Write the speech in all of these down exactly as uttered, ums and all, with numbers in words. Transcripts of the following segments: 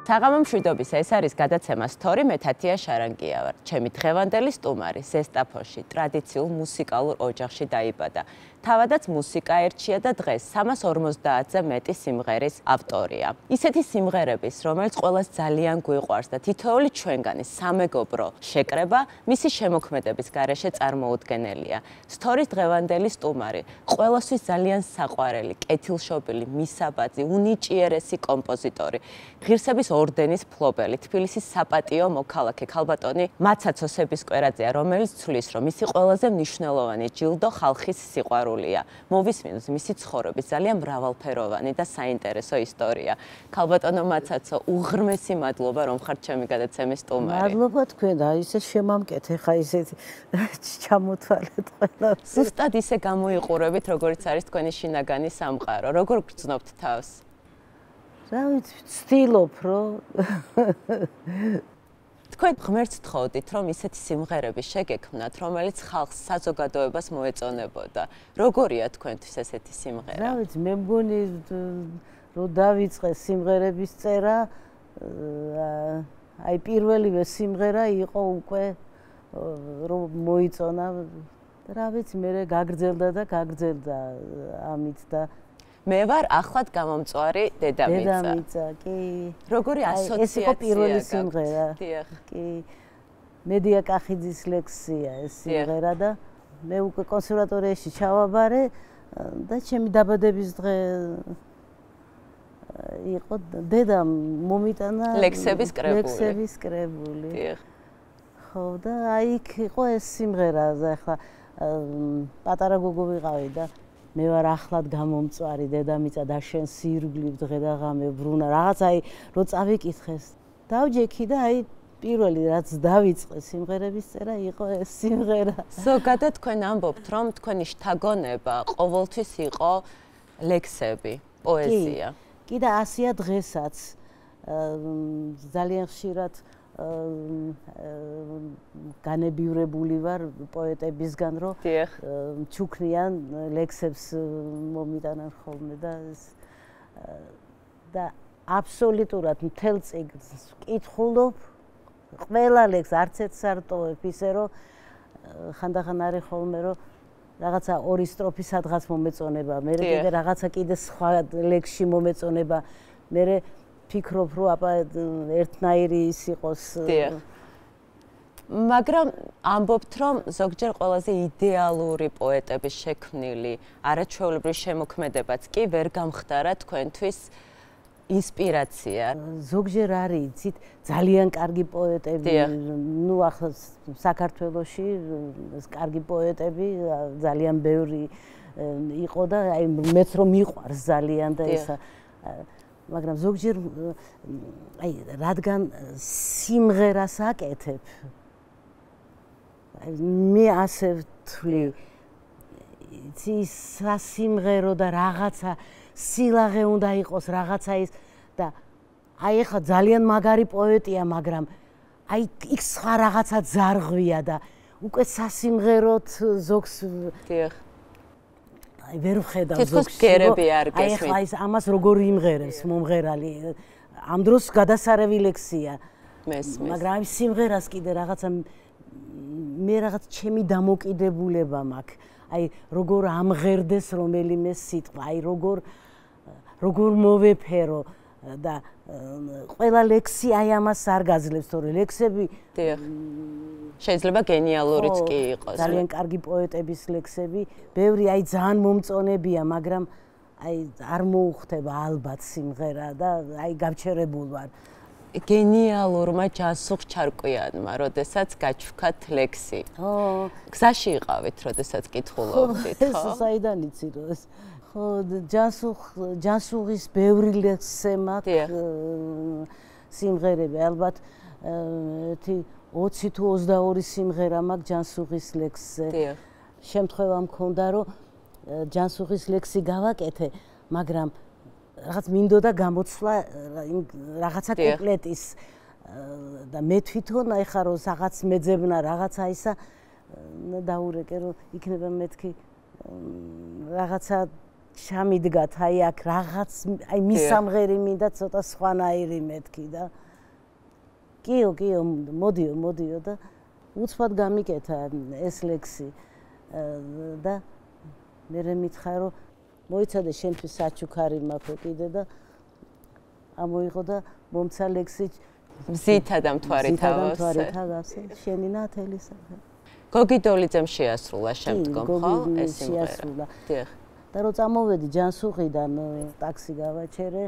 საღამო მშვიდობის, ეს არის გადაცემა სტორი, მე თათია შარანგია ვარ. ჩემი დღევანდელი სტუმარი ზესტაფონში ტრადიციულ მუსიკალურ ოჯახში დაიბადა. თავადაც მუსიკა ერჩია და დღეს სამას ორმოცდაათზე მეტი სიმღერის ავტორია. ისეთი სიმღერების, რომელიც ყველას ძალიან გვიყვარს და თითოეული ჩვენგანი სამეგობრო შეკრება, მისი შემოქმედების გარეშე წარმოუდგენელია. სტორის დღევანდელი სტუმარი, ყველასთვის ძალიან საყვარელი, კეთილშობილი, მისაბაძი, უნიჭიერესი კომპოზიტორი, ღირსების ორდენის მფლობელი, თბილისის საპატიო მოქალაქე ქალბატონი მაცაცოსების კვერაძეა, რომელიც ცვლის, რომ მისი ყველაზე მნიშვნელოვანი ჯილდო ხალხის სიყვარულია. მოვისმინოთ მისი ცხოვრების ძალიან მრავალფეროვანი და საინტერესო ისტორია. ქალბატონო მაცაცო, უღრმესი მადლობა, რომ ხართ ჩემი გადაცემის სტუმარი. მადლობა თქვენ, აი ესე შემამკეთ, ხა ისეთი ჩამოთვალეთ ყველა. ზუსტად ისე გამოიყურებით, როგორც არის თქვენი შინაგანი სამყარო. როგორ გრძნობთ თავს? რა ვიცი, ვცდილობ, რომ თქვენ ღმერთს თხოვდით, რომ ისეთი სიმღერები შეგექმნათ, რომელიც ხალხს საზოგადოებას მოეწონებოდა. როგორია თქვენთვის ესეთი სიმღერა? რა ვიცი, მე მგონი რომ დავიწყე სიმღერების წერა, აი პირველივე სიმღერა იყო უკვე რომ მოიწონა. რა ვიცი, მე გაგრძელდა და გაგრძელდა ამით და მე ვარ ახლად გამომწვარი დედამიწა. დედამიწა, კი. როგორი ასოციაცია? ეს იყო პირველი სიმღერა. დიახ. კი. მედია კახიძის ლექსია ეს სიმღერა და მე უკვე კონსერვატორიაში ჩავაბარე და ჩემი დაბადების დღე იყო დედამ მომიტანა ლექსების კრებული. ლექსების კრებული. დიახ. ხო და აი იქ იყო ეს სიმღერა, ახლა პატარა გოგო ვიყავი და მე ვარ ახლად გამომწვარი დედამიწა და შენ სირგლივ დღე და ღამე ბრუნა რაღაც აი რო წავიკითხეს დავჯექი და აი პირველი რაც დავიწყე სიმღერების წერა იყო ეს სიმღერა. ზოგადად თქვენ ამბობთ რომ თქვენი შთაგონება ყოველთვის იყო ლექსები, პოეზია. კი და ასია დღესაც ძალიან ხშირად განებივრებული ვარ პოეტებისგან, რომ ჩუქნიან ლექსებს მომიტანან ხოლმე და და აბსოლუტურად მთელ წიგნს ვკითხულობ, ყველა ლექსს არც ერთს არ ტოვებ, ისე რომ ხანდახან არის ხოლმე რომ რაღაცა ორი სტროფი სადღაც მომეწონება, მე კიდე რაღაცა კიდე სხვა ლექსში მომეწონება, მე ფიქრობ რომ აბა ერთნაირი ის იყოს. მაგრამ ამბობთ რომ ზოგჯერ ყველაზე იდეალური პოეტების შექმნილი არაჩვეულებრივი შემოქმედებაც კი ვერ გამხდარა თქვენთვის ინსპირაცია. ზოგჯერ არის, იცით, ძალიან კარგი პოეტები, ნუ ახლა საქართველოში კარგი პოეტები ძალიან ბევრი იყო და აი მეც რომ მიყვარს ძალიან და ისა მაგრამ ზოგჯერ აი რადგან სიმღერას აკეთებ მე ასე ვთვლი იცი სასიმღერო და რაღაცა სილაღე უნდა იყოს რაღაცა ის და აი ახლა ძალიან მაგარი პოეტია მაგრამ აი იქ სხვა რაღაცა ძარღვია და უკვე სასიმღეროთ ზოგს დიახ აი ვერ ვხედავ ზოგს თითქოს გერები არ გესმით. აი ახლა ის ამას როგორ იმღერებს მომღერალი ამ დროს გადასარევი ლექსია მესმის მაგრამ აი სიმღერას კიდე რაღაცა მე რაღაც ჩემი დამოკიდებულება მაქვს აი როგორ ამღერდეს რომელიმე სიტყვა აი როგორ როგორ მოვეფერო და ყველა ლექსი აი ამას არ გაძლევს თორე ლექსები დიახ შეიძლება გენიალურიც კი იყოს. ძალიან კარგი პოეტების ლექსები, ბევრი აი ძალიან მომწონებია, მაგრამ აი არ მოუხდება ალბათ სიმღერა და აი გავჩერებულ ვარ. გენიალურმა ჯანსუღ ჩარკვიანმა, როდესაც გაჩვქათ ლექსი. ო, გზაში იყავით, როდესაც კითხულობდით, ხო? ეს საიდან იცი რომ ეს ხო ჯანსუღ ჯანსუღის ბევრი ლექსი მაქვს სიმღერები ალბათ ერთი ოცი თუ ოცდაორი სიმღერა მაქვს ჯანსუღის ლექსზე. შემთხვევა მქონდა რომ ჯანსუღის ლექსი გავაკეთე, მაგრამ რაღაც მინდოდა გამოცვლა რაღაცა კუპლეტის და მე თვითონ ეხა რომ რაღაც მეძებნა რაღაცა ისა დაურეკე რომ იქნება მეთქი რაღაცა ჩამიდგათ აი აქ რაღაც აი მისამღერი მინდა ცოტა სხვანაირი მეთქი და კიო კიო მოდიო მოდიო და უცბად გამიკეთა ეს ლექსი და მე მითხრა რომ მოიცადე შენთვის საჩუქარი მაქვს კიდე და ამოიღო და მომცა ლექსი მზითა და მთვარით ავასე შენი ნათელი სახე გოგი დოლიძემ შეასრულა შემდგომ ხო ეს სიმღერა დიახ და რო წამოვედი ჯანსუღიდან ტაქსი გავაჩერე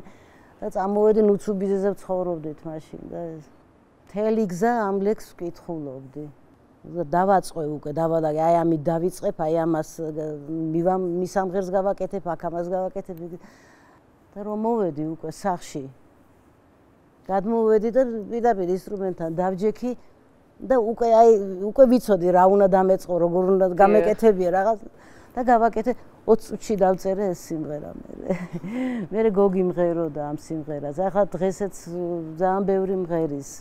და წამოვედი ნუცუბიზეზე ვცხოვრობდით მაშინ და მთელი გზა ამ ლექსს ვკითხულობდი დავაწყე უკვე დავადაგე აი ამით დავიწყებ აი ამას მისამღერს გავაკეთებ აქ ამას გავაკეთებ და რომ მოვედი უკვე სახში გადმოვედი და პირდაპირ ინსტრუმენტთან დავჯექი და უკვე აი უკვე ვიცოდი რა უნდა დამეწყო როგორ უნდა გამეკეთებია რაღაც და გავაკეთე ოცი წუთში დავწერე ეს სიმღერა მე მე გოგი მღეროდა ამ სიმღერას ახლა დღესაც ძალიან ბევრი მღერის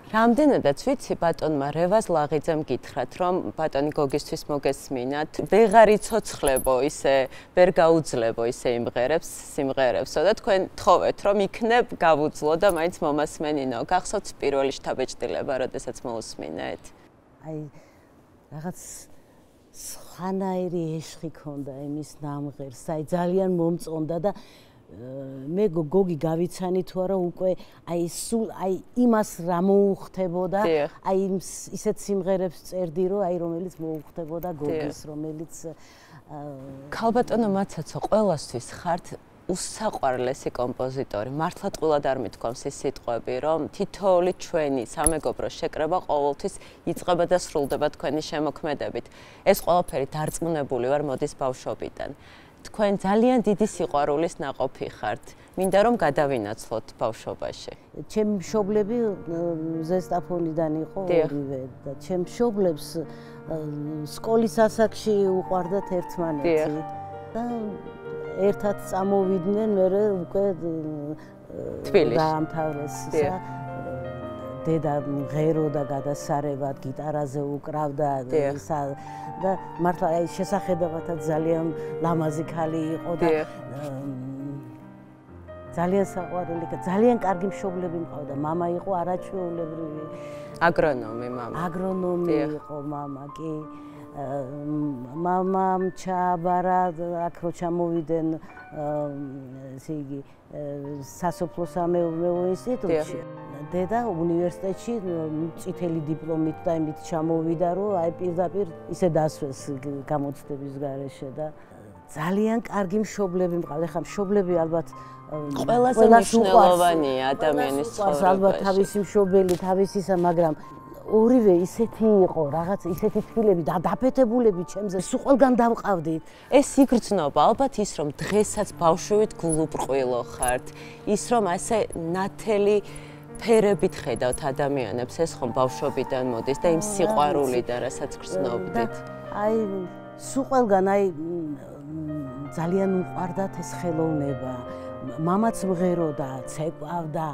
რამდენადაც ვიცი ბატონმა რევაზ ლაღიძემ გითხრათ რომ ბატონი გოგისთვის მოგესმინათ ვეღარ იცოცხლებო ისე ვერ გაუძლებო ისე იმღერებს სიმღერებსო და თქვენ თხოვეთ რომ იქნებ გავუძლო და მაინც მომასმენინო გახსოვთ პირველი შთაბეჭდილება როდესაც მოусმინეთ აი რაღაც სხვანაირი ეშხი ქონდა იმის ნამღერს აი ძალიან მომწონდა და მე გოგი გავიცანი თუ არა უკვე აი სულ აი იმას რა მოუხდებოდა აი ისეთ სიმღერებს წერდი რომ აი რომელიც მოუხდებოდა გოგის რომელიც ქალბატონო მაცაცო ყველასთვის ხართ უსაყვარლესი კომპოზიტორი მართლა ტყუილად არ მithქვამს ის სიტყვები რომ თითოეული ჩვენი სამეგობრო შეკრება ყოველთვის იწყება და სრულდება თქვენი შემოქმედებით ეს ყველაფერი დარწმუნებული ვარ მოდის ბავშვობიდან თქვენ ძალიან დიდი სიყვარულის ნაყოფი ხართ. მინდა რომ გადავინაცვლოთ ბავშვობაში. ჩემი მშობლები ზესტაფონიდან იყო ორივე და ჩემ მშობლებს სკოლის ასაკში უყვარდათ ერთმანეთი და ერთად წამოვიდნენ მერე უკვე თბილისში დაამთავრეს ისა დედა მღეროდა გადასარევად გიტარაზე უკრავდა ისა და მართლა აი შესახედავათაც ძალიან ლამაზი ქალი იყო და ძალიან საყვარელი და ძალიან კარგი მშობლები მყავდა. მამა იყო არაჩვეულებრივი აგრონომი მამა. აგრონომი იყო მამა კი. მამამ ჩააბარა აქ რო ჩამოვიდნენ ესე იგი სასოფლო-სამეურნეო ინსტიტუტში. დედა უნივერსიტეტში წითელი დიპლომით და იმით ჩამოვიდა რომ აი პირდაპირ ისე დასვეს გამოცდების გარეშე და ძალიან კარგი მშობლები მყავდა. ხა მშობლები ალბათ ყველაზე მნიშვნელოვანია ადამიანის ცხოვრებაში. ალბათ თავისი მშობელი, თავისი ისა, მაგრამ ორივე ისეთი იყო, რაღაც ისეთი თბილები და დაფეთებულები ჩემზე, სულ ყველგან დავყავდით. ეს იგრძნობა, ალბათ ის რომ დღესაც ბავშვით გულუბრყვილო ხართ, ის რომ ასე ნათელი ფერებით ხედავთ ადამიანებს, ეს ხომ ბავშვობიდან მოდის და იმ სიყვარულიდან, რასაც გრძნობდით. აი, სულ ყველგან აი ძალიან უყვარდათ ეს ხელოვნება. მამაც მღეროდა, ცეკვავდა.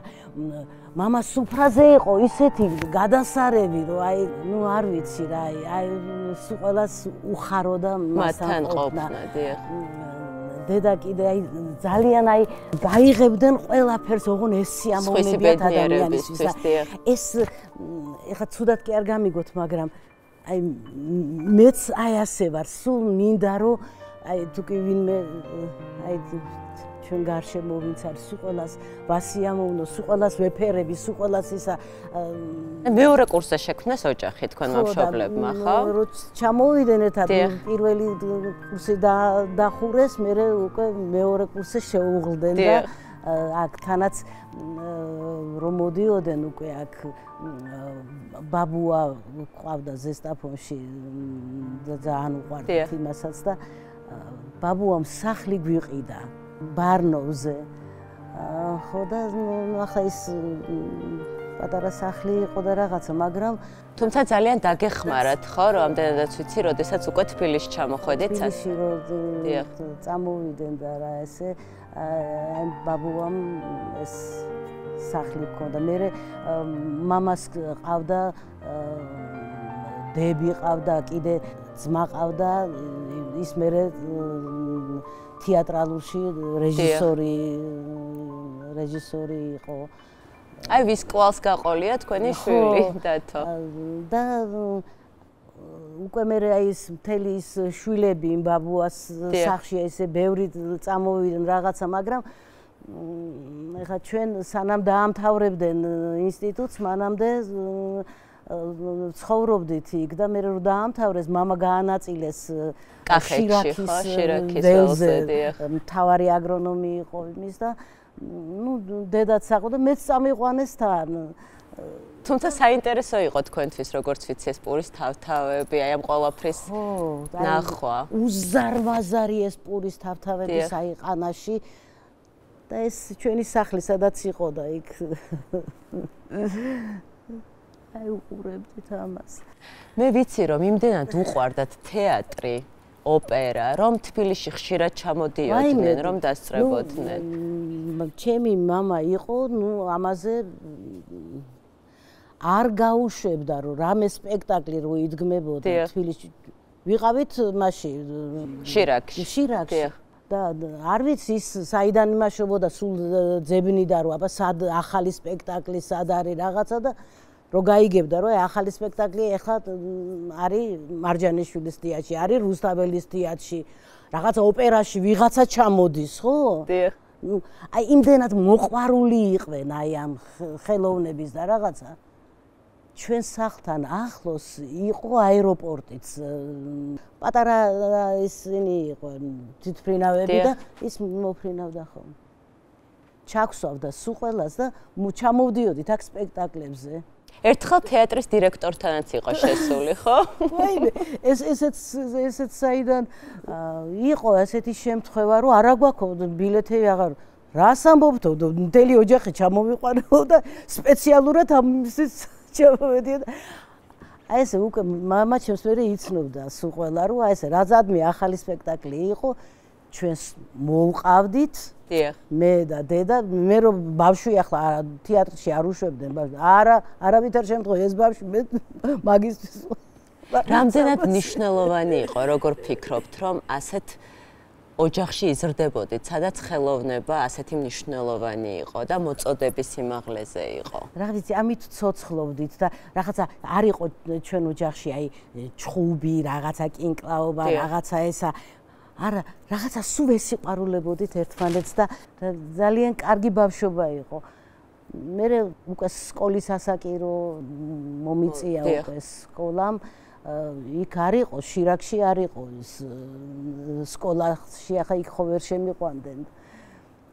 მამა სუფრაზე იყო ისეთი გადასარევი, რომ აი, ნუ არ ვიცი რა, აი, სულ ყველას უხაროდა მასთან ყოფნა, დიახ. დედა კიდე აი ძალიან აი გაიღებდნენ ყველაფერს, ოღონ ეს სიამოვნებიათ ადამიანისთვის. ეს ეხლა ცუდად კი არ გამიგოთ, მაგრამ აი მეც აი ასე ვარ, სულ მინდა რომ აი თუ კი ვინმე აი ჩვენ გარშემო ვინც არის, სულ ყველას ვასიამოვნო, სულ ყველას ვეფერები, სულ ყველას ისა მეორე კურსზე შექმნეს ოჯახი თქვენმა მშობლებმა, ხო? რო ჩამოვიდნენ ერთად პირველი კურსი დახურეს, მერე უკვე მეორე კურსზე შეუღლდნენ და აქ თანაც რომ მოდიოდნენ უკვე აქ ბაბუა ყავდა ზესტაფონში და ძალიან უყვარდათ იმასაც და ბაბუამ სახლი გვიყიდა ბარნოვზე. ხო და ახლა ის პატარა სახლი იყო და რაღაცა, მაგრამ თუმცა ძალიან დაგეხმარათ, ხო, რომ ამდენადაც ვიცი, როდესაც უკვე თბილისში ჩამოხვედით. თბილისში რომ წამოვიდნენ და რა ესე აი ბაბუამ ეს სახლი ჰქონდა. მე მამას ყავდა დები ყავდა, კიდე ძმა ყავდა, ის მე თეატრალურში რეჟისორი რეჟისორი იყო. აი ვის კვალს გაყოლია თქვენი შვილი დათო. და უკვე მე აი ეს მთელი ის შვილები იმ ბაბუას სახლში ესე ბევრი წამოვიდნენ რაღაცა, მაგრამ ეხლა ჩვენ სანამ დაამთავრებდნენ ინსტიტუტს, მანამდე ცხოვრობდით იქ და მე რო დაამთავრეს, მამა გაანაწილეს შირაქის ველზე, მთავარი აგრონომი იყო იმის და ну დედაც საყო და მეც წამიყვანეს თან. თუმცა საინტერესო იყო თქვენთვის როგორც ვიცი ეს პურის თავთავები, აი ამ ყველაფრის ნახვა. უზარმაზარი ეს პურის თავთავები საიყანაში და ეს ჩვენი სახლი სადაც იყო და იქ აი უყურებდით ამას. მე ვიცი რომ იმდენად უყვარდათ თეატრი, ოპერა, რომ თბილისში ხშირად ჩამოდიოდნენ, რომ დასწრებოდნენ. ჩემი მამა იყო, ნუ ამაზე არ გაუშვებდა რომ რამე სპექტაკლი რო იდგმებოდა თბილისში. ვიყავით მაშინ შირაქში. შირაქში. და არ ვიცი ის საიდან იმაშობოდა სულ ძებნიდა რომ აბა სად ახალი სპექტაკლი სად არის რაღაცა და რო გაიგებდა რომ ახალი სპექტაკლი ეხლა არის მარჯანიშვილის თეატრში, არის რუსთაველის თეატრში, რაღაცა ოპერაში ვიღაცა ჩამოდის, ხო? დიახ. ნუ აი იმდენად მოყვარული იყვნენ აი ამ ხელოვნების და რაღაცა. ჩვენ სახლთან ახლოს იყო აეროპორტიც. პატარა ისინი იყო თვითფრინავები და ის მოფრინავდა ხოლმე. ჩაგვსვავდა სულ ყველას და ჩამოვდიოდით აქ სპექტაკლებზე. ერთხელ თეატრის დირექტორთანაც იყო შესული, ხო? ვაიმე, ეს ესეც ესეც საიდან იყო ასეთი შემთხვევა, რომ არა გვაქვს ბილეთები აღარ რას ამბობთო, მთელი ოჯახი ჩამოვიყვანო და სპეციალურად ამის ჩამოვედიო. აი ესე უკვე მამა ჩემს მერე იცნობდა სულ ყველა, რომ აი ესე რაზადმე ახალი სპექტაკლი იყო, ჩვენს მოვყავდით. დიახ. მე და დედა, მე რომ ბავშვი ახლა თეატრში არ უშვებდნენ ბავშვი. არა, არავითარ შემთხვევაში ეს ბავშვი მე მაგისტრის. რამდენად მნიშვნელოვანი იყო, როგორ ფიქრობთ, რომ ასეთ ოჯახში იზრდებოდით, სადაც ხელოვნება ასეთი მნიშვნელოვანი იყო და მოწოდების სიმაღლეზე იყო. რა ვიცი, ამით ცოცხლობდით და რაღაცა არ იყო ჩვენ ოჯახში აი ჩხუბი, რაღაცა კინკლაობა, რაღაცა ესა არა, რაღაცა სულ ვესიყვარულებოდით ერთმანეთს და ძალიან კარგი ბავშვობა იყო. მე უკვე სკოლის ასაკირო მომიწია უკვე სკოლამ. იქ არ იყო, შირაქში არ იყო ის სკოლაში, ახლა იქ ხო ვერ შემიყვანდნენ.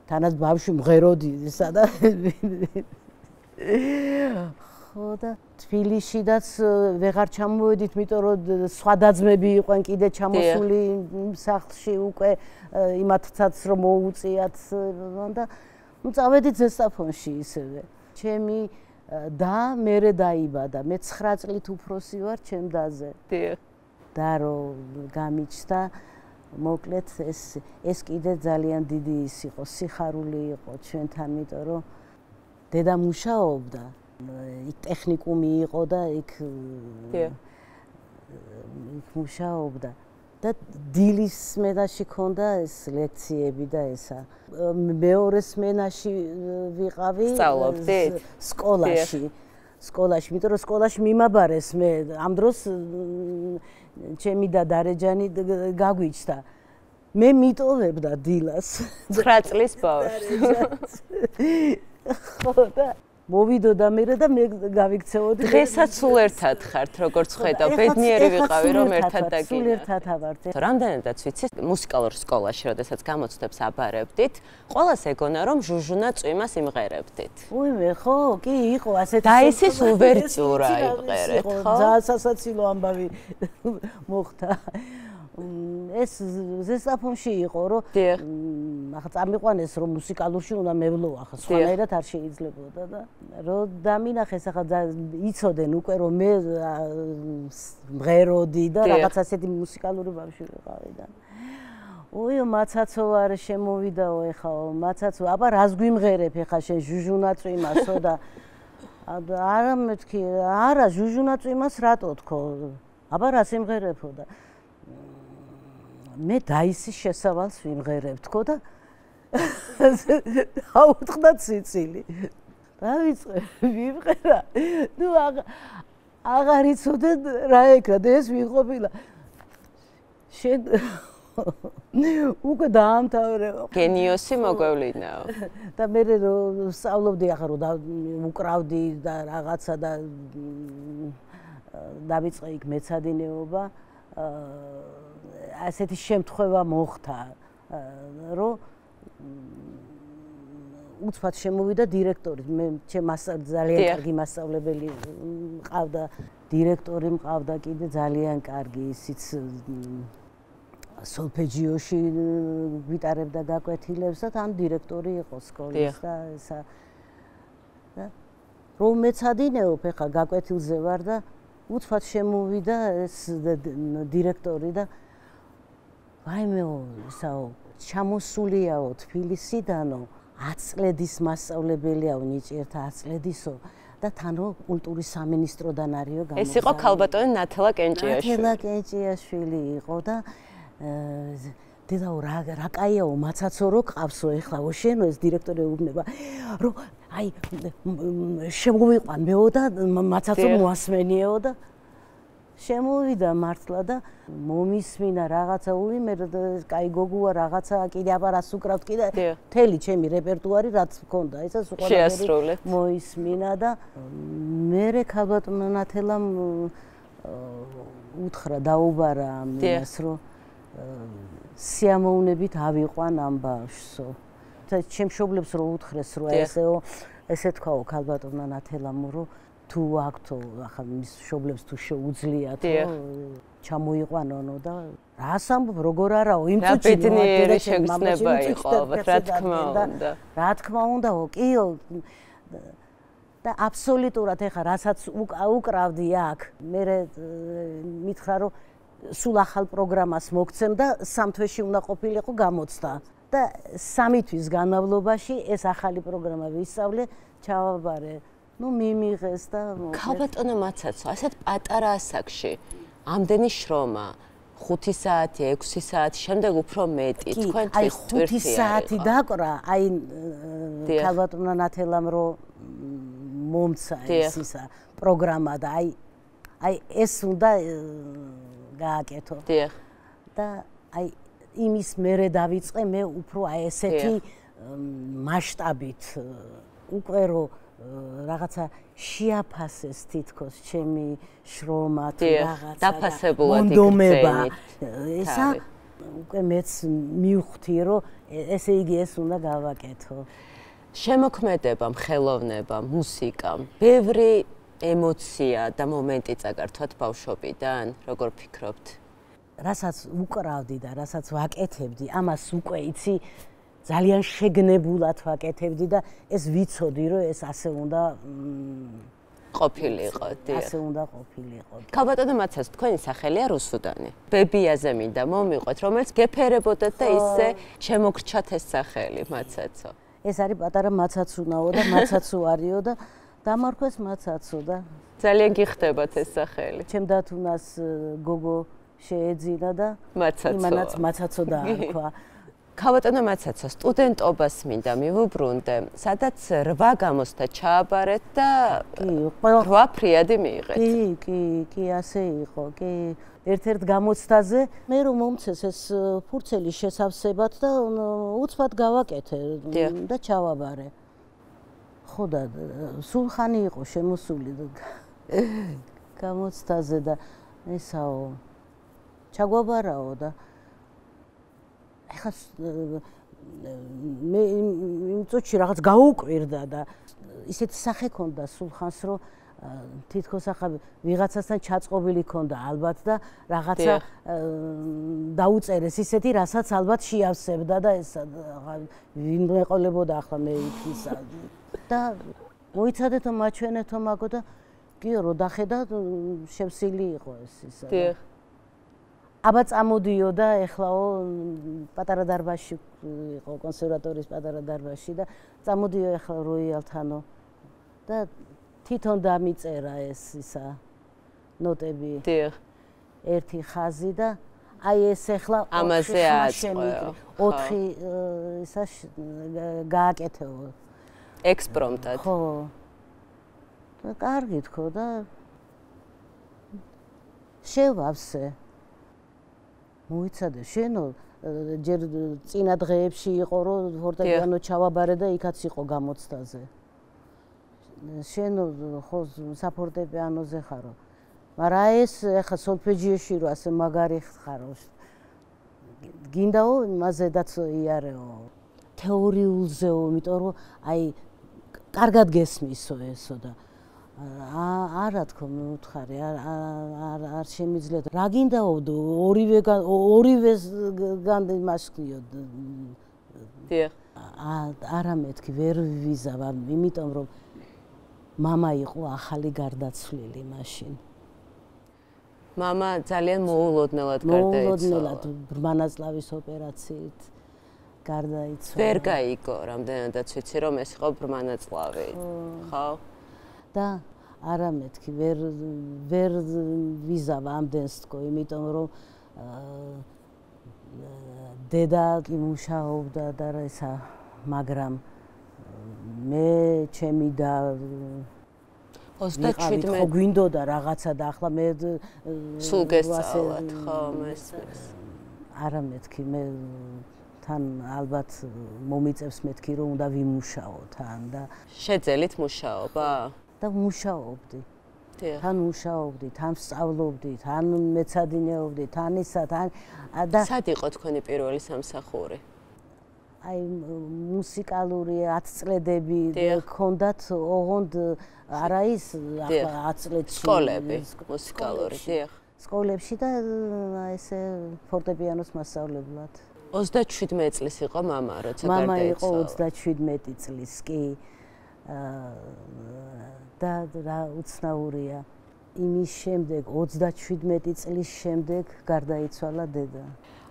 თანაც ბავშვი მღეროდი ისა და ხო და თბილისშიდაც ვეღარ ჩამოვედით, იმიტომ რომ სხვა დაძმები იყვნენ კიდე ჩამოსული სახლში უკვე იმათაც რომ მოუწიათ და ნუ წავედით ზესტაფონში ისევე. ჩემი და მერე დაიბადა. მე ცხრა წლით უფროსი ვარ ჩემ დაზე. დიახ. და რომ გამიჩნდა, მოკლედ ეს ეს კიდე ძალიან დიდი ის იყო, სიხარული იყო ჩვენთან, იმიტომ რომ დედა მუშაობდა. იქ ტექნიკუმი იყო და იქ იქ მუშაობდა და დილის სმენაში ქონდა ეს ლექციები და ესა. მეორე სმენაში ვიყავი სკოლაში. სკოლაში, იმიტომ რომ სკოლაში მიმაბარეს მე ამ დროს ჩემი და დარეჯანი გაგვიჩნდა. მე მიტოვებდა დილას. ცხრა წლის ბავშვს. ხო და მოვიდოდა მე და მე გავიქცეოდი. დღესაც სულ ერთად ხართ, როგორც ხედავ, ბედნიერი ვიყავი რომ ერთად დაგინახეთ. სულ ერთად ავართ. რამდენადაც ვიცი, მუსიკალურ სკოლაში, როდესაც გამოცდებს აბარებდით, ყველას ეგონა რომ ჟუჟუნა წვიმას იმღერებდით. უიმე, ხო, კი, იყო ასეთი. და ისის უვერტიურა იმღერეთ, ხო? ძალიან სასაცილო ამბავი მოხდა. ეს ზესტაფონში იყო, რომ ახლა წამიყვანეს რომ მუსიკალურში უნდა მევლო, ახლა სხვანაირად არ შეიძლებოდა და რომ დამინახეს ახლა იცოდნენ უკვე რომ მე მღეროდი და რაღაც ასეთი მუსიკალური ბავშვი ვიყავი და ოიო მაცაცო არ შემოვიდაო ეხაო მაცაცო აბა რას გვიმღერებ ეხა შენ ჟუჟუნა წვიმასო და არა მეთქი არა ჟუჟუნა წვიმას რატო თქო აბა რას იმღერებო და მე დაისის შესავალს ვიმღერებ თქო და აუთხდა ციცილი. რა ვიწყე, ვიმღერა. ნუ აღარ იცოდე რა ეკრა და ეს ვიყოფილა. შენ უკვე დაამთავრე. გენიოსი მოგვევლინაო. და მე რომ სწავლობდი ახლა რომ უკრავდი და რაღაცა და დავიწყე იქ მეცადინეობა, ასეთი შემთხვევა მოხდა, რომ უცბად შემოვიდა დირექტორი. მე ჩემ ძალიან კარგი მასწავლებელი მყავდა, დირექტორი მყავდა კიდე ძალიან კარგი, ისიც სოლფეჯიოში გვიტარებდა გაკვეთილებს და თან დირექტორი იყო სკოლის და ესა და რომ მეცადინეობ ახლა გაკვეთილზე ვარ და უცბად შემოვიდა ეს დირექტორი და ვაიმეო ისაო ჩამოსულიაო თბილისიდანო ათი წლედის მასწავლებელიაო ნიჭიერთა ათი წლედისო და თანო კულტურის სამინისტროდან არისო გამოსული. ეს იყო ქალბატონი ნათელა კენჭიაშვილი. ნათელა კენჭიაშვილი იყო და დედაო რა რა კაიაო მაცაცო რო ყავსო ეხლაო შენო ეს დირექტორი უბნება რომ აი შემოვიყვან მეო და მაცაცო მოასმენიეო და შემოვიდა მართლა და მომისმინა რაღაცა ულიმე კაი გოგოა რაღაცა კიდე აბარას უკრავთ კიდე მთელი ჩემი რეპერტუარი რაც მქონდა ესა შეასრულე მოისმინა და მერე ქალბატონო ნათელამ უთხრა დაუბარა ამას რომ სიამოვნებით ავიყვან ამ ბავშვსო. და ჩემ მშობლებს რო უთხრეს რომ ესეო ესე თქვაო ქალბატონმა ნათელამ რომ თუ აქთო ახლა მის მშობლებს თუ შეუძლიათ რომ ჩამოიყვანონო და რას ამბობ როგორ არაო იმ წუთში ბედნიერი შეგრძნება იყო ალბათ რა თქმა უნდა. რა თქმა უნდაო კიო და აბსოლუტურად ეხა რასაც უკრავდი აქ მე მითხრა რომ სულ ახალ პროგრამას მოგცემ და სამ თვეში უნდა ყოფილიყო გამოცდა და სამი თვის განმავლობაში ეს ახალი პროგრამა ვისწავლე, ჩავაბარე. ნუ მიმიღეს და ქალბატონო მაცაცო, ასეთ პატარა ასაკში ამდენი შრომა, ხუთი საათი, ექვსი საათი, შემდეგ უფრო მეტი, თქვენთვის ტვირთი ხუთი საათი დაკვრა, აი ქალბატონო ნათელამ რომ მომცა ეს ისა პროგრამა და აი აი ეს უნდა გააკეთო. დიახ. და აი იმის მერე დავიწყე მე უფრო აი ესეთი მასშტაბით უკვე რომ რაღაცა შეაფასეს თითქოს ჩემი შრომა თუ რაღაცა დაფასებულად იქცენით. ესა უკვე მეც მივხვდი რომ ესე იგი ეს უნდა გავაკეთო. შემოქმედებამ, ხელოვნებამ, მუსიკამ ბევრი ემოცია და მომენტი წაგართვათ ბავშვობიდან, როგორ ფიქრობთ? რასაც უკრავდი და რასაც ვაკეთებდი, ამას უკვე იცი ძალიან შეგნებულად ვაკეთებდი და ეს ვიცოდი რომ ეს ასე უნდა ყოფილიყო, დიახ. ასე უნდა ყოფილიყო. ქალბატონო მაცაცო, თქვენი სახელია რუსუდანი. ბებიაზე მინდა მომიყვეთ, რომელიც გეფერებოდათ და ისე შემოგრჩათ ეს სახელი მაცაცო. ეს არის პატარა მაცაცუნაო და მაცაცუ არისო და დამარქვეს მაცაცო და ძალიან გიხდებათ ეს სახელი. ჩემ დათუნას გოგო შეეძინა და მაცაცო. იმანაც მაცაცო დაარქვა. ქალბატონო მაცაცო, სტუდენტობას მინდა მივუბრუნდე, სადაც რვა გამოცდა ჩააბარეთ და რვა ფრიადი მიიღეთ. კი, კი, კი, ასე იყო, კი. ერთ-ერთ გამოცდაზე მე რომ მომცეს ეს ფურცელი შესავსებად და უცბად გავაკეთე და ჩავაბარე. ხო და სულხანი იყო შემოსული გამოცდაზე და ესაო ჩაგვაბარაო და ეხლა მე იმ წუთში რაღაც გაუკვირდა და ისეთი სახე ქონდა სულხანს რომ თითქოს ახლა ვიღაცასთან ჩაწყობილი ქონდა ალბათ და რაღაცა დაუწერეს ისეთი რასაც ალბათ შეავსებდა და ეს ვინ მეყოლებოდა ახლა მე იქისა და მოიცადეთო მაჩვენეთო მაგო და კიო რო დახედა შევსილი იყო ეს ისა დიახ აბა წამოდიოდა ეხლაო პატარა დარბაზში იყო კონსერვატორიის პატარა დარბაზში და წამოდიო ეხლა როიალთანო და თვითონ დამიწერა ეს ისა ნოტები დიახ ერთი ხაზი და აი ეს ახლა ამაზე აწყვეო. ოთხი ისა გააკეთეო. ექსპრომტად. ხო. და კარგი თქო და შევავსე. მოიცადე, შენო ჯერ წინა დღეებში იყო რომ ფორტეპიანო ჩავაბარე და იქაც იყო გამოცდაზე. შენო ხო საფორტეპიანოზე ხარო. მაგრამ ეს ახლა სოლფეჯიოში რო ასე მაგარი ხარო. გინდაო იმაზედაც იარეო. თეორიულზეო, იმიტომ რომ აი კარგად გესმისო ესო და არა თქო მეუთხარი არ არ შემიძლია რა გინდაო ორივე ორივე განდიმაშკიო დიახ არა მეთქი ვერ ვიზავარ იმიტომ რომ მამა იყო ახალი გარდაცვლილი მაშინ მამა ძალიან მოულოდნელად გარდაიცვალა მოულოდნელად ბრმანაწლავის ოპერაციით გარდაიცვალა ვერ გაიგო რამდენადაც ვიცი რომ ეს იყო ბრმანაწლავი ხო და არა მეთქი ვერ ვერ ვიზავა ამდენს თქო იმიტომ რომ დედა იმუშაობდა და ესა მაგრამ მე ჩემი და ოცდაშვიდმეტი ხო გვინდოდა რაღაცა და ახლა მე სულ გესწავლათ ხო მესმის არა მეთქი მე თან ალბათ მომიწევს მეთქი რომ უნდა ვიმუშაო თან და შეძელით მუშაობა და მუშაობდი. თან მუშაობდი, თან სწავლობდი, თან მეცადინეობდი, თან ისა თან და სად იყო თქვენი პირველი სამსახური? აი მუსიკალური ათ წლედები გქონდათ ოღონდ არა ის ახლა ათ წლებში სკოლები მუსიკალური, დიახ. სკოლებში და ესე ფორტეპიანოს მასწავლებლად. ოცდაშვიდმეტი წლის იყო მამა, როცა გარდაიცვალა. მამა იყო ოცდაშვიდმეტი წლის, კი. და რა უცნაურია იმის შემდეგ ოცდაშვიდმეტი წლის შემდეგ გარდაიცვალა დედა.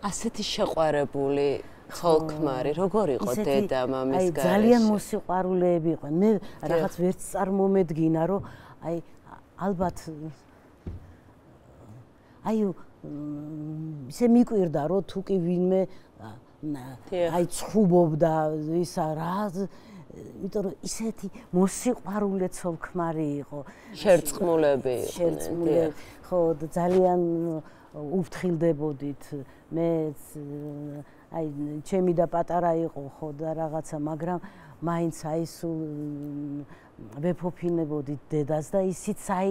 ასეთი შეყვარებული ცოლ-ქმარი, როგორ იყო დედა მამის გარეშე? აი ძალიან მოსიყვარულეები იყვნენ. მე რაღაც ვერც წარმომედგინა, რომ აი ალბათ აი ისე მიკვირდა, რომ თუ კი ვინმე აი ცხუბობდა ისა რა იმიტომ რომ ისეთი მოსიყვარულე ცოლ-ქმარი იყო. შერწყმულები იყვნენ. შერწყმულები, ხო, ძალიან უფრთხილდებოდით. მე აი ჩემი და პატარა იყო ხო და რაღაცა, მაგრამ მაინც აი სულ ვეფოფინებოდით დედას და ისიც აი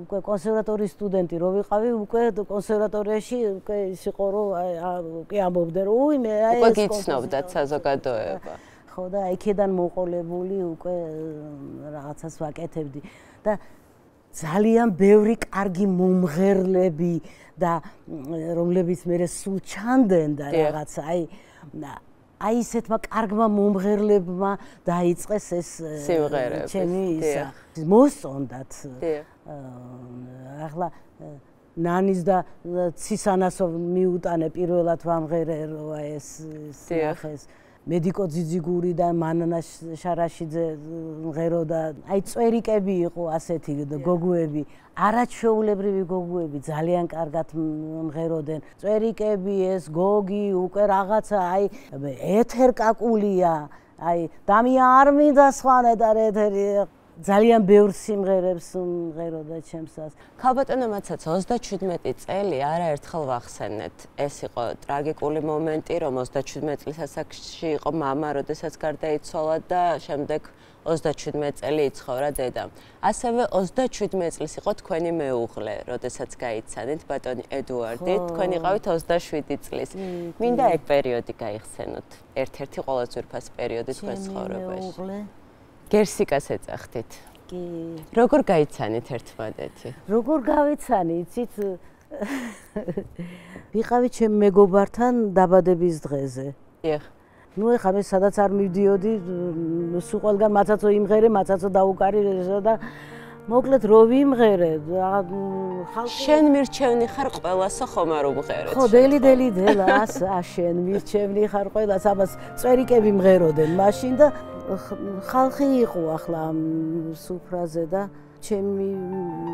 უკვე კონსერვატორიის სტუდენტი რო ვიყავი, უკვე კონსერვატორიაში უკვე ის იყო რომ უკვე ამბობდნენ რომ უი მე აი უკვე გიცნობდათ საზოგადოება. ხო და იქიდან მოყოლებული უკვე რაღაცას ვაკეთებდი და ძალიან ბევრი კარგი მომღერლები და რომლებიც მე სულ ჩანდნენ და რაღაცა აი აი ისეთმა კარგმა მომღერლებმა დაიწყეს ეს სიმღერები ჩემი ისა მოსწონდათ ახლა ნანის და ცისანასო მიუტანე პირველად ვამღერე რომ ეს სახეს მედიკო ძიძიგური და მანანა შარაშიძე მღეროდა აი წვერიკები იყო ასეთი გოგუები არაჩვეულებრივი გოგუები ძალიან კარგად მღეროდნენ წვერიკები ეს გოგი უკვე რაღაცა აი ეთერკაკულია აი დამია არ მინდა სხვანაირად ეთერი ძალიან ბევრ სიმღერებს მღეროდა ჩემსას. ქალბატონო მაცაცა ოცდაშვიდმეტი წელი არაერთხელ ვახსენეთ. ეს იყო ტრაგიკული მომენტი, რომ ოცდაშვიდმეტი წლის ასაკში იყო მამა, როდესაც გარდაიცვალა და შემდეგ ოცდაშვიდმეტი წელი იცხოვრა დედა. ასევე ოცდაშვიდმეტი წლის იყო თქვენი მეუღლე, როდესაც გაიცანით ბატონი ედუარდი, თქვენ იყავით ოცდაშვიდი წლის. მინდა ეგ პერიოდი გაიხსენოთ. ერთ-ერთი ყველაზე ძვირფასი პერიოდი თქვენ ცხოვრებაში. გერსიკას ეძახდით. კი. როგორ გაიცანით ერთმანეთი? როგორ გავიცანი, იცით? ვიყავი ჩემ მეგობართან დაბადების დღეზე. დიახ. ნუ ეხლა მე სადაც არ მივდიოდი, სულ ყველგან მაცაცო იმღერე, მაცაცო დაუკარი და მოკლედ რო ვიმღერე, ხალხი შენ მირჩევნი ხარ ყველასო ხომ არ უმღერეთ? ხო, დელი დელი დელას, ა შენ მირჩევნი ხარ ყველას, ამას წვერიკები მღეროდნენ მაშინ და ხალხი იყო ახლა სუფრაზე და ჩემი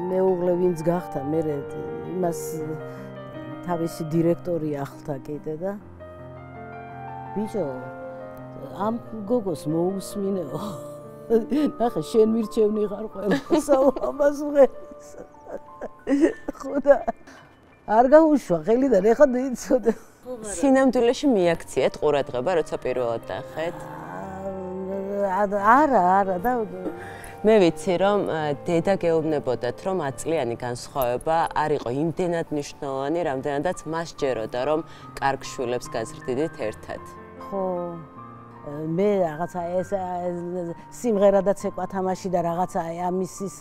მეუღლე ვინც გახდა მე იმას თავისი დირექტორი ახლა კიდე და ბიჭო ამ გოგოს მოусმინეო ნახე შენ მირჩევნი ხარ ყველასა ამას ვღერის ხოდა არ გაუშვა ხელიდან ეხლა იცოდე სინამდვილეში მიაქციეთ ყურადღება როცა პირველად ნახეთ არა არა და მე ვიცი რომ დედა გეუბნებოდათ რომ ათ წლიანი განსხვავება არ იყო იმდენად მნიშვნელოვანი რამდენადაც მას ჯეროდა რომ კარგ შვილებს გაზრდიდით ერთად ხო მე რაღაცა ეს სიმღერადაც ეკვა თამაში და რაღაცა ამის ის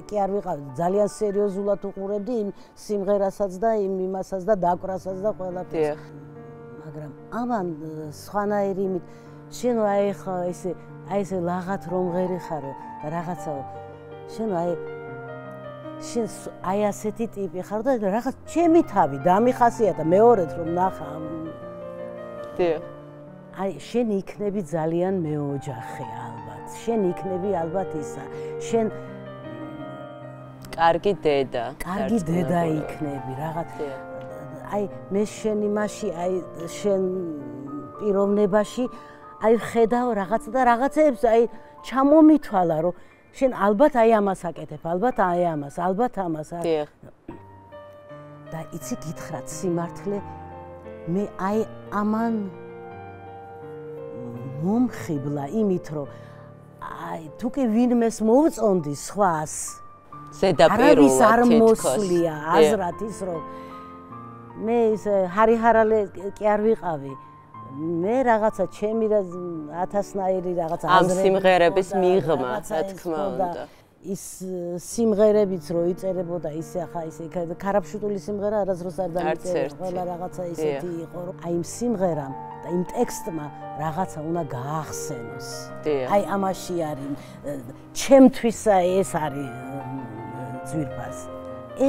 კი არ ვიყავ ძალიან სერიოზულად უყურებდი იმ სიმღერასაც და იმ იმასაც და დაკვრასაც და ყველაფერს მაგრამ ამან სხვანაირი იმით შენ აი ხა ესე აი ესე ლაღათ რომ ღერი ხარო და რაღაცა შენ აი შენ აი ასეთი ტიპი ხარ და რაღაც ჩემი თავი დამიხასიათა მეორედ რომ ნახა დიახ აი შენ იქნები ძალიან მეოჯახე ალბათ შენ იქნები ალბათ ისა შენ კარგი დედა კარგი დედა იქნები რაღაც აი მე შენ იმაში აი შენ პიროვნებაში აი ხედავ რაღაც და რაღაცებს აი ჩამომითვალა რომ შენ ალბათ აი ამას აკეთებ ალბათ აი ამას ალბათ ამას და იცი გითხრათ სიმართლე მე აი ამან მომხიბლა იმით რომ აი თუ კი ვინმეს მოვწონდი სხვას ზედაპირულად არავის არ მოსვლია აზრად ის რომ მე ის ჰარიჰარალე კი არ ვიყავი მე რაღაცა ჩემი ათასნაირი რაღაცა ამ სიმღერების მიღმა რა თქმა უნდა ის სიმღერებიც რო იწერებოდა ისე ახლა ისე ქარაფშუტული სიმღერა არასდროს არ დამიწერა ყველა რაღაცა ისეთი იყო რომ აი იმ სიმღერამ და იმ ტექსტმა რაღაცა უნდა გაახსენოს აი ამაში არის ჩემთვის ეს არის ძვირფას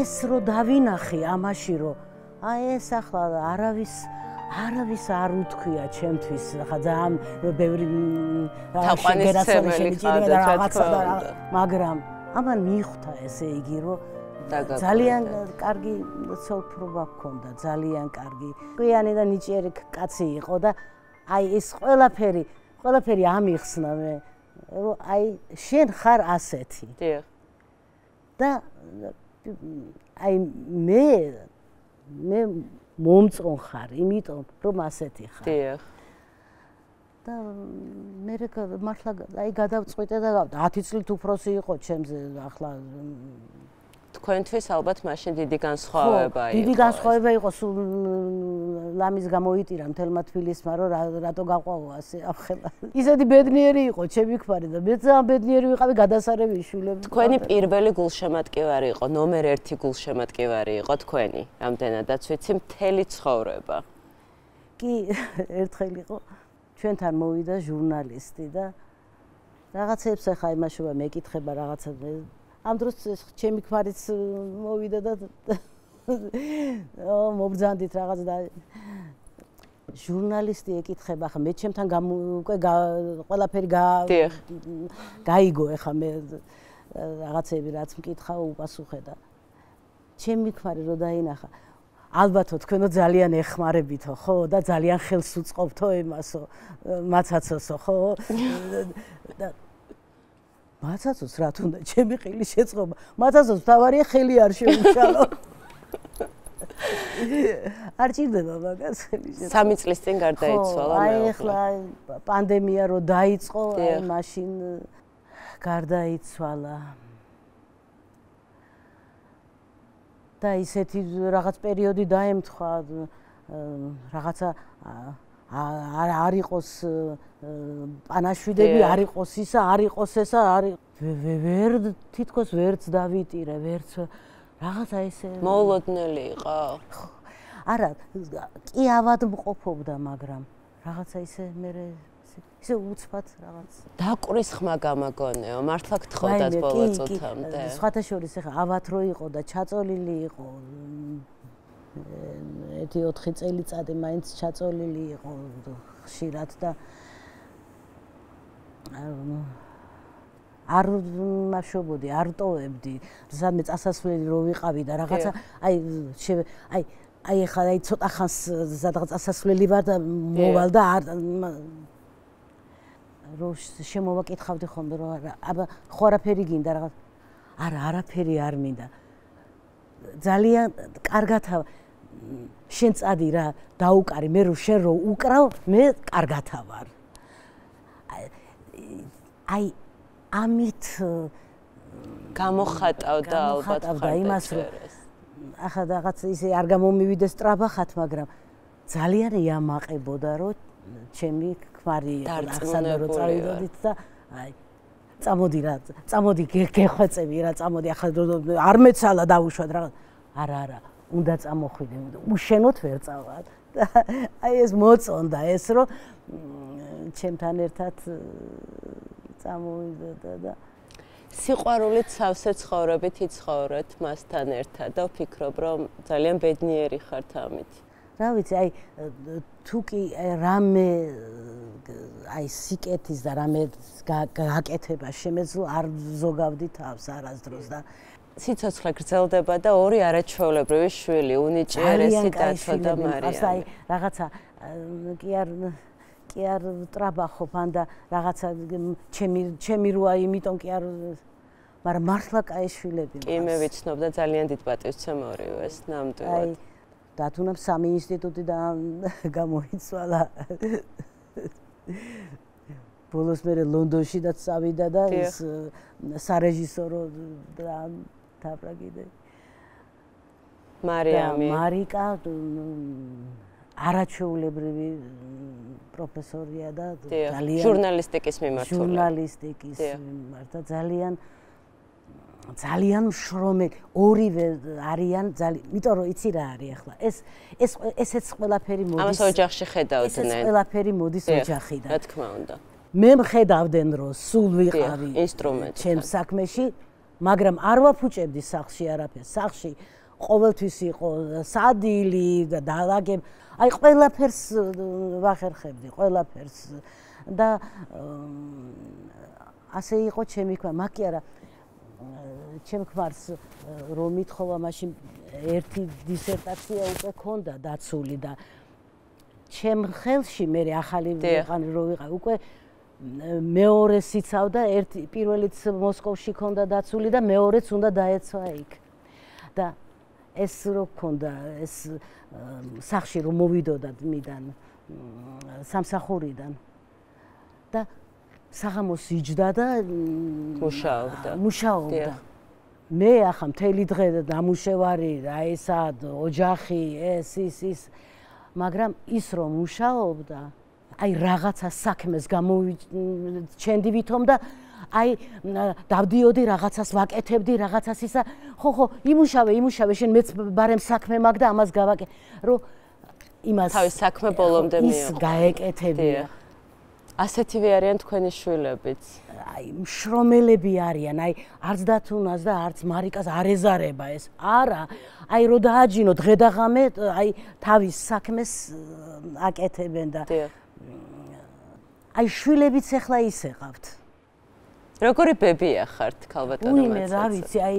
ეს რო დავინახე ამაში რომ აი ეს ახლა არავის არავის არ უთქვია ჩემთვის ხა ძალიან ბევრი თაყვანისმცემელი ხარ რაღაცა მაგრამ ამან მიხვდა ესე იგი რომ ძალიან კარგი ცოლფრობა ჰქონდა ძალიან კარგი ყვიანი და ნიჭიერი კაცი იყო და აი ეს ყველაფერი ყველაფერი ამიხსნა მე რომ აი შენ ხარ ასეთი დიახ და აი მე მე მომწონ ხარ, იმიტომ რომ ასეთი ხარ. დიახ. და მე მართლა აი გადავწყვიტე და ათი წლით უფროსი იყო ჩემზე ახლა თქვენთვის ალბათ მაშინ დიდი განსხვავება იყო. დიდი განსხვავება იყო სულ ლამის გამოიტირა მთელმა თბილისმა რომ რატო გაყვავო ასე ახლა. ისეთი ბედნიერი იყო ჩემი ქმარი და მე ძალიან ბედნიერი ვიყავი გადასარევი შვილები. თქვენი პირველი გულშემატკივარი იყო, ნომერ ერთი გულშემატკივარი იყო თქვენი, რამდენადაც ვიცი მთელი ცხოვრება. კი, ერთხელ იყო ჩვენთან მოვიდა ჟურნალისტი და რაღაცებს ახლა იმაშობა მეკითხება რაღაცა ამ დროს ჩემი ქმარიც მოვიდა და ო მობრძანდით რაღაც და ჟურნალისტი ეკითხება ახლა მე ჩემთან უკვე ყველაფერი გაიგო ახლა მე რაღაცები რაც მკითხა უპასუხე და ჩემი ქმარი რო დაინახა ალბათო თქვენო ძალიან ეხმარებითო ხო და ძალიან ხელს უწყობთო იმასო მაცაცოსო ხო და მაცაცოს რა თუნდა ჩემი ხილი შეწყობა მაცაცოს თავარია ხელი არ შეუშალო არ ჭირდება მაგას ხელი შეწყობა სამი წლის წინ გარდაიცვალა მე აი ახლა პანდემია რო დაიწყო აი მაშინ გარდაიცვალა და ისეთი რაღაც პერიოდი დაემთხვა რაღაცა არ არ იყოს პანაშვიდები არ იყოს ისა არ იყოს ესა არ ვერ თითქოს ვერც დავიტირე ვერც რაღაცა ესე მოულოდნელი იყო არა კი ავადმყოფობდა მაგრამ რაღაცა ისე მე ისე უცბად რაღაც დაკვრის ხმა გამაგონეო მართლა გთხოვდათ ბოლო წუთამდე სხვათა შორის ახლა ავად რო იყო და ჩაწოლილი იყო ერთი ოთხი წელიწადი მაინც ჩაწოლილი იყო ხშირად და არ მაშობოდი არ ტოვებდი სადმე წასასვლელი რო ვიყავი და რაღაცა აი აი აი ხა აი ცოტა ხანს სადღაც ასასვლელი ვარ და მოვალ და არ რო შემოვაკითხავდი ხოლმე რომ არა აბა ხო არაფერი გინდა რაღაც არა არაფერი არ მინდა ძალიან კარგათა შენ წადი რა დაუკარი მე რო შენ რო უკრავ მე კარგათა ვარ აი ამით გამოხატავდა ალბათ ხარ იმას რომ ახლა რაღაც ისე არ გამომივიდეს ტრაბახად მაგრამ ძალიან იამაყებოდა რომ ჩემი ქმარი ახსნა რომ წავიდოდით და აი წამოდი რა წამოდი გეხვეწები რა წამოდი ახლა არ მეცალა დავუშვათ რაღაც არა არა უნდა წამოხვიდე უშენოთ ვერ წავალ აი ეს მოწონდა ეს რომ ჩემთან ერთად წამოვიდა და სიყვარულით სავსე ცხოვრებით იცხოვრეთ მასთან ერთად და ვფიქრობ რომ ძალიან ბედნიერი ხართ ამით. რა ვიცი, აი თუ კი რამე აი სიკეთის და რამე გაკეთება შემეძლო არ ზოგავდი თავს არასდროს და სიცოცხლე გრძელდება და ორი არაჩვეულებრივი შვილი, უნიჭიერესი დათო და მარიამი. აი რაღაცა კი არ კი არ ტრაბახობ ან და რაღაცა ჩემი ჩემი როა იმიტომ კი არ მაგრამ მართლა კაი შვილები კი მე ვიცნობ და ძალიან დიდ პატივცემორივეს ნამდვილად. აი დათუნამ სამი ინსტიტუტი და გამოიცვალა. ბოლოს მე ლონდონში და წავიდა და ის სარეჟისორო და თავრა კიდე. მარიამი მარიკა არაჩვეულებრივი პროფესორია და ძალიან ჟურნალისტიკის მიმართული. ჟურნალისტიკის მიმართა ძალიან ძალიან მშრომელი ორივე არიან ძალიან იმიტომ რომ იცი რა არის ახლა ეს ეს ესეც ყველაფერი მოდის ამას ოჯახში ხედავდნენ ესეც ყველაფერი მოდის ოჯახიდან რა თქმა უნდა მე მხედავდნენ რომ სულ ვიყავი ინსტრუმენტი ჩემ საქმეში მაგრამ არ ვაფუჭებდი სახლში არაფერს სახლში ყოველთვის იყო სადილი და დალაგებ აი ყველაფერს ვახერხებდი ყველაფერს და ასე იყო ჩემი ქმარი მაგ არა ჩემ ქმარს რომ მithხოვა მაშინ ერთი დისერტაცია უკვე ქონდა დაცული და ჩემ ხელში მე ახალი ვიყავი რო ვიყავი უკვე მეორეს იცავდა ერთი პირველიც მოსკოვში ქონდა დაცული და მეორეც უნდა დაეცვა იქ და ეს რო ქონდა ეს სახში რომ მოვიდოდა მიდან სამსახურიდან და საღამოს იჯდა და მუშაობდა მუშაობდა მე ახლა მთელი დღე დამუშევარი რა ესა ოჯახი ეს ის ის მაგრამ ის რომ მუშაობდა აი რაღაცა საქმეს გამოვიჩენდი ვითომ და აი დავდიოდი რაღაცას ვაკეთებდი რაღაცას ისა ხო ხო იმუშავე იმუშავე შენ მეც ბარემ საქმე მაგ და ამას გავაკე რომ იმას თავის საქმე ბოლომდე მიიღო ის გაეკეთებია ასეთივე არიან თქვენი შვილებიც აი მშრომელები არიან აი არც დათუნას და არც მარიკას არ ეზარება ეს არა აი რო დააჯინო დღე და ღამე აი თავის საქმეს აკეთებენ და აი შვილებიც ახლა ისე ყავთ როგორი ბებია ხართ ქალბატონო უი მე რა ვიცი აი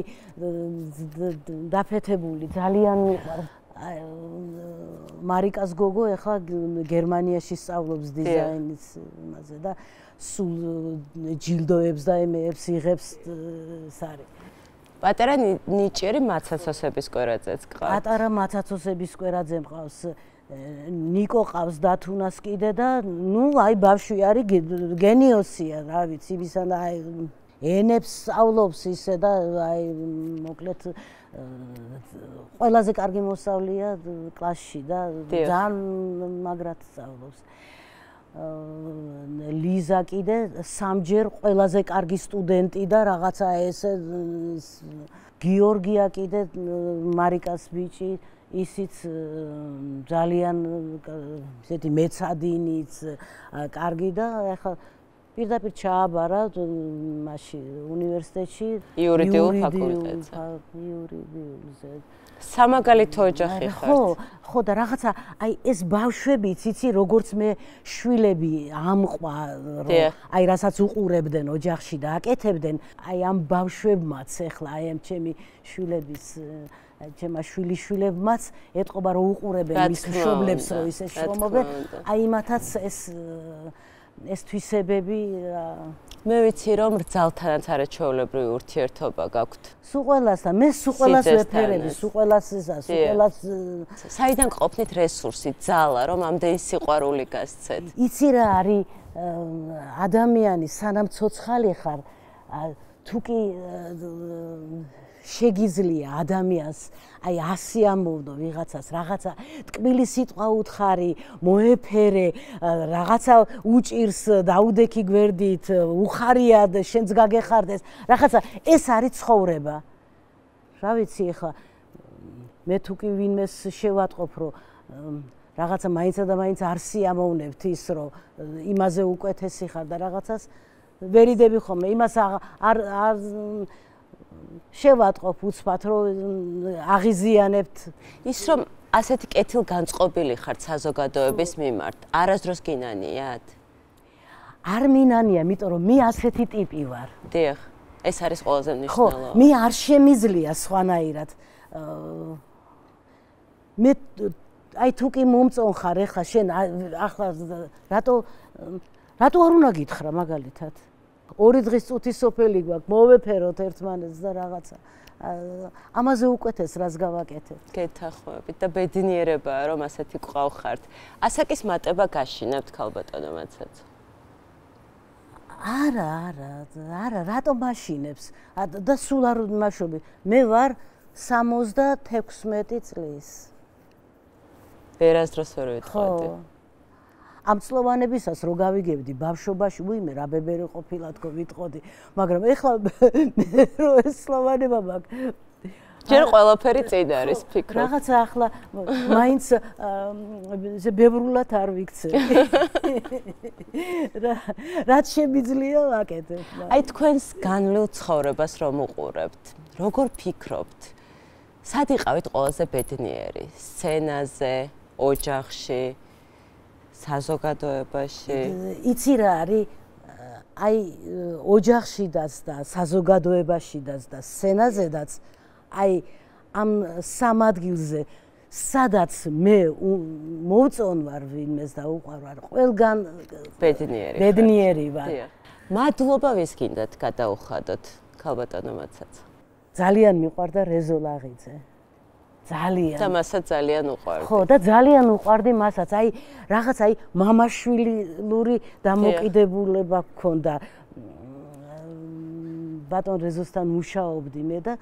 დაფეთებული ძალიან მარიკას გოგო ახლა გერმანიაში სწავლობს დიზაინის იმაზე და სულ ჯილდოებს და ემეებს იღებს სარი პატარა ნიჭიერი მაცაცოსების კვერაძეც ყავს პატარა მაცაცოსების კვერაძე მყავს ნიკო ყავს დათუნას კიდე და ნუ აი ბავშვი არის გენიოსია რა ვიცი ისა და აი ენებს სწავლობს ისე და აი მოკლედ ყველაზე კარგი მოსწავლეა კლასში და ძალიან მაგრად სწავლობს ლიზა კიდე სამჯერ ყველაზე კარგი სტუდენტი და რაღაცა ესე გიორგია კიდე მარიკას ბიჭი ისიც ძალიან ესეთი მეცადინიც კარგი და ახლა პირდაპირ ჩააბარა მაშინ უნივერსიტეტში იურიდიულ ფაკულტეტზე. იურიდიულზე. სამაგალითო ოჯახი ხართ. ხო, ხო და რაღაცა აი ეს ბავშვები, იცი, როგორც მე შვილები ამყვა, აი რასაც უყურებდნენ ოჯახში და აკეთებდნენ, აი ამ ბავშვებმაც ეხლა აი ამ ჩემი შვილების ჩემმა შვილიშვილებმაც ეთყობა რომ უყურებენ მის მშობლებს რომ ისე შრომობენ, აი იმათაც ეს ეს თვისებები მე ვიცი რომ რძალთანაც არაჩვეულებრივი ურთიერთობა გაქვთ. სულ ყველასთან, მე სულ ყველას ვეფერები, სულ ყველას ისა, სულ ყველას საიდან ყოფნით რესურსი, ძალა, რომ ამდენი სიყვარული გასცეთ? იცი რა არის ადამიანი სანამ ცოცხალი ხარ, თუ კი შეგიძლია ადამიანს აი ასი ამბობდო ვიღაცას რაღაცა ტკბილი სიტყვა უთხარი, მოეფერე, რაღაცა უჭირს, დაუდექი გვერდით, უხარია შენც გაგეხარდეს, რაღაცა ეს არის ცხოვრება. რა ვიცი ახლა მე თუ კი ვინმეს შევატყობ რომ რაღაცა მაინცა და მაინც არ სიამოვნებთ ის რომ იმაზე უკეთესი ხარ და რაღაცას ვერიდები ხოლმე იმას არ არ შევატყობ უცბად რომ აღიზიანებთ ის რომ ასეთი კეთილგანწყობილი ხართ საზოგადოების მიმართ არასდროს გინანიათ? არ მინანია, იმიტომ რომ მე ასეთი ტიპი ვარ. დიახ, ეს არის ყველაზე მნიშვნელოვანი. ხო, მე არ შემიძლია სხვანაირად. მე აი თუ კი მომწონხარ ეხლა შენ ახლა რატო რატო არ უნდა გითხრა მაგალითად? ორი დღის წუთი სოფელი გვაქვს, მოვეფეროთ ერთმანეთს და რაღაცა. ამაზე უკეთეს რას გავაკეთებ. გეთახვებით და ბედნიერებაა რომ ასეთი ყავხართ. ასაკის მატება გაშინებთ ქალბატონო მაცაცო? არა, არა, არა, რატომ მაშინებს? და სულ არ მაშობი. მე ვარ სამოცდათექვსმეტი წლის. ვერასდროს ვერ ვიტყოდი. ამ წლოვანებისას რო გავიგებდი ბავშვობაში, უიმე რა ბებერი ყოფილა თქო ვიტყოდი, მაგრამ ეხლა მე რო ეს წლოვანება მაქვს. ჯერ ყველაფერი წინ არის ფიქრობ. რაღაცა ახლა მაინც ზე ბევრულად არ ვიქცე. რაც შემიძლია ვაკეთებ. აი თქვენს განვლილ ცხოვრებას რომ უყურებთ, როგორ ფიქრობთ? სად იყავით ყველაზე ბედნიერი? სცენაზე, ოჯახში? საზოგადოებაში. იცი რა არის? აი ოჯახშიდაც და საზოგადოებაშიდაც და სცენაზედაც აი ამ სამ ადგილზე სადაც მე მოვწონვარ ვინმეს და უყვარვარ, ყველგან ბედნიერი. ბედნიერი ვარ. მადლობა ვის გინდათ გადაუხადოთ ქალბატონო მაცაცო? ძალიან მიყვარდა რეზო ლაღიძე. ძალიან. და მასაც ძალიან უყვარდი. ხო, და ძალიან უყვარდი მასაც. აი, რაღაც აი მამაშვილური დამოკიდებულება გქონდა. ბატონ რეზოსთან მუშაობდი მე და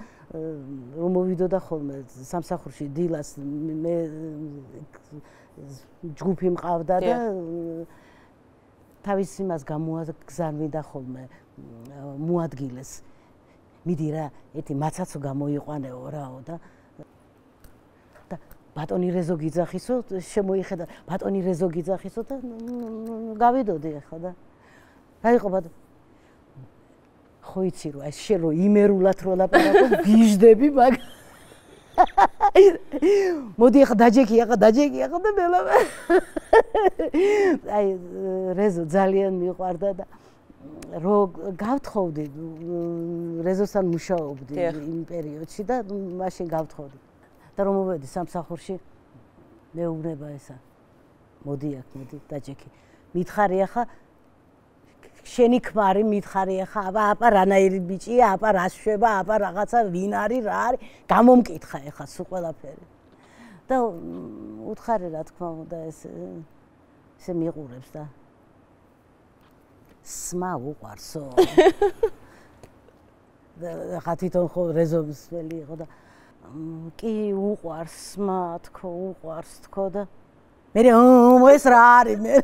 რომ მოვიდოდა ხოლმე სამსახურში დილას მე ჯგუფი მყავდა და თავის იმას გამოაგზავნიდა ხოლმე მოადგილეს. მიდი რა, ერთი მაცაცო გამოიყვანეო რაო და ბატონი რეზო გიძახისო, შემოიხედა ბატონი რეზო გიძახისო და გავიდოდი ახლა და რა იყო ბატონი? ხო იცი რომ ეს შენ რო იმერულად რო ლაპარაკობ, გიჟდები მაგ. მოდი ახლა დაჯექი, ახლა დაჯექი, ახლა და მელა. აი რეზო ძალიან მიყვარდა და რო გავთხოვდი რეზოსთან მუშაობდი იმ პერიოდში და მაშინ გავთხოვდი. და რომ მოვედი სამსახურში მეუბნება ესა მოდი აქ მოდი დაჯექი მითხარი ახლა შენი ქმარი მითხარი ახლა აბა აბა რანაირი ბიჭია აბა რა შვება აბა რაღაცა ვინ არის რა არის გამომკითხა ახლა სულ ყველაფერი და უთხარი რა თქმა უნდა ეს ესე მიყურებს და სმა უყვარსო და ხა თვითონ ხო რეზოვის ველი იყო და კი უყვარს სმა თქო უყვარს თქო და მე ეს რა არის მე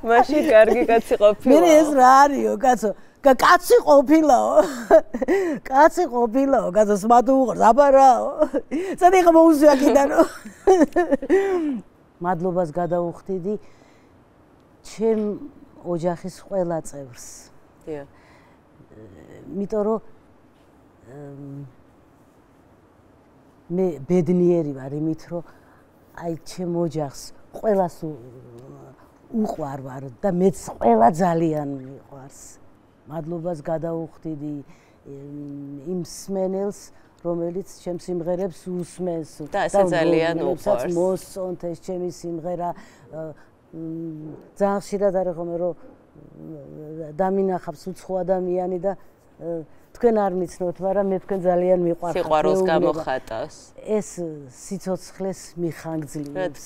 მაშინ კარგი კაცი ყოფილა მე ეს რა არისო კაცო კაცი ყოფილაო კაცი ყოფილაო კაცო სმა თუ უყვარს აბა რაო სადი ხა მოუსვია კიდანო მადლობას გადაუხდიდი ჩემ ოჯახის ყველა წევრს. დიახ. იმიტომ რომ მე ბედნიერი ვარ იმით, რომ აი ჩემ ოჯახს ყველას უყვარ ვარ და მეც ყველა ძალიან მიყვარს. მადლობას გადაუხდიდი იმ სმენელს, რომელიც ჩემ სიმღერებს უსმენს და ასე ძალიან უყვარს. მოსწონთ ეს ჩემი სიმღერა. ძალიან ხშირად არის ხოლმე რომ დამინახავს უცხო ადამიანი და თქვენ არ მიცნოთ, მაგრამ მე თქვენ ძალიან მიყვარხართ. სიყვარულს გამოხატავს. ეს სიცოცხლეს მიხანგძლივებს.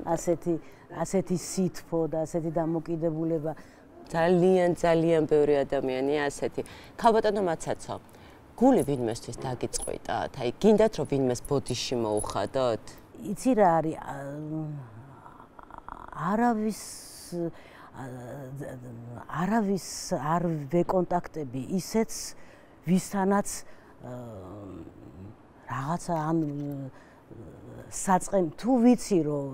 ასეთი ასეთი სითბო და ასეთი დამოკიდებულება. ძალიან ძალიან ბევრი ადამიანია ასეთი. ქალბატონო მაცაცო, გული ვინმესთვის დაგიწყვიტათ? აი, გინდათ რომ ვინმეს ბოდიში მოუხადოთ? იცი რა არის? არავის არავის არ ვეკონტაქტები ისეც ვისთანაც რაღაცა ან საწყენ თუ ვიცი რომ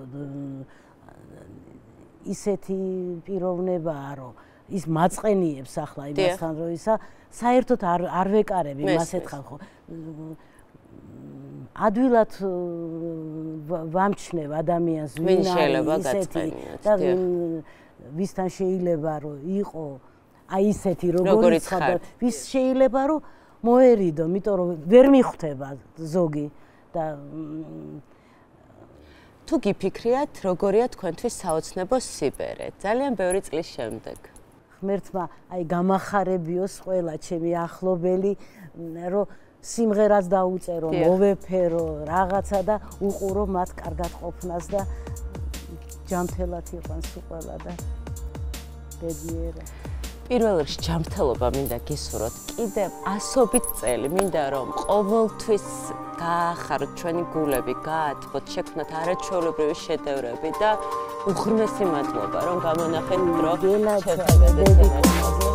ისეთი პიროვნებაა რომ ის მაწყენიებს ახლა იმასთან რომ ისა საერთოდ არ არ ვეკარები მას ეთხარ ხო ადვილად ვამჩნევ ადამიანს ვინ არის ისეთი და ვისთან შეიძლება რომ იყო აი ისეთი როგორიც ხარ ვის შეიძლება რომ მოერიდო, იმიტომ რომ ვერ მიხვდება ზოგი და თუ გიფიქრიათ, როგორია თქვენთვის საოცნებო სიბერე, ძალიან ბევრი წლის შემდეგ. ღმერთმა აი გამახარებიოს ყველა ჩემი ახლობელი, რომ სიმღერას დაუწერო, მოვეფერო რაღაცა და უყურო მათ კარგად ყოფნას და ჯანმრთელად იყვანს ყველა და ბედნიერად. პირველ რიგში ჯანმრთელობა მინდა გისურვოთ კიდევ ასობით წელი, მინდა რომ ყოველთვის გაახაროთ ჩვენი გულები, გაათბოთ, შექმნათ არაჩვეულებრივი შედევრები და უღრმესი მადლობა რომ გამონახეთ დრო ჩვენთან.